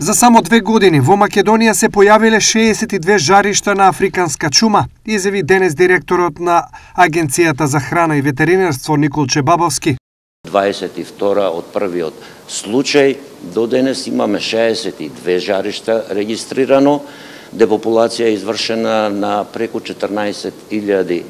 За само 2 години во Македонија се појавиле 62 жаришта на африканска чума, изјави денес директорот на Агенцијата за храна и ветеринарство Николче Бабовски. 22 од првиот случај до денес имаме 62 жаришта регистрирано, депопулација е извршена на преку 14.000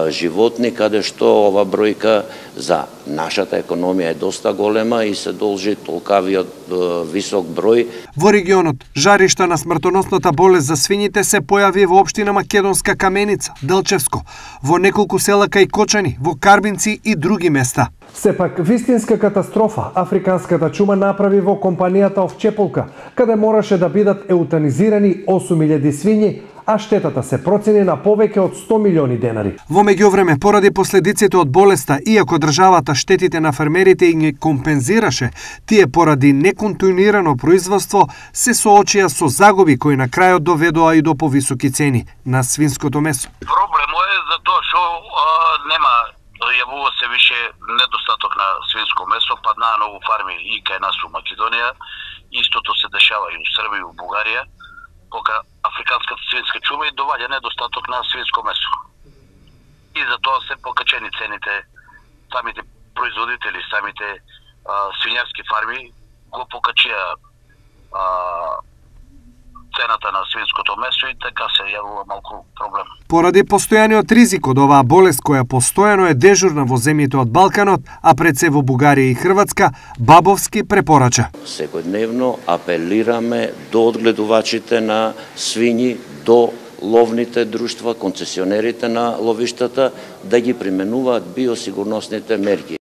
животни, каде што ова бројка за нашата економија е доста голема и се должи толкавиот висок број. Во регионот, жаришта на смртоносната болест за свињите се појави во општина Македонска Каменица, Делчевско, во неколку села кај Кочани, во Карбинци и други места. Сепак, вистинска катастрофа африканската чума направи во компанијата Овчеполка, каде мораше да бидат еутанизирани 8.000 свињи, а штетата се процени на повеќе од 100 милиони денари. Во меѓувреме, поради последиците од болеста, иако државата штетите на фермерите и ги компензираше, тие поради неконтинуирано производство се соочија со загуби кои на крајот доведоа и до повисоки цени на свинското месо. Проблемот е затоа што нема, јавува се више недостаток на свинско месо, паднаа многу фарми и кај нас во Македонија, истото се дешава и во Србија и во Бугарија, пока африканската свинска чума и доваѓа недостаток на свинско месо. И затоа се покачени цените, самите производители, самите свињарски фарми го покачија цената на свинското месо и така се јавува малку проблем. Поради постојаниот ризик од оваа болест која постојано е дежурна во земјите од Балканот, а пред се во Бугарија и Хрватска, Бабовски препорача. Секојдневно апелираме до одгледувачите на свињи, до ловните друштва, концесионерите на ловиштата, да ги применуваат биосигурносните мерки.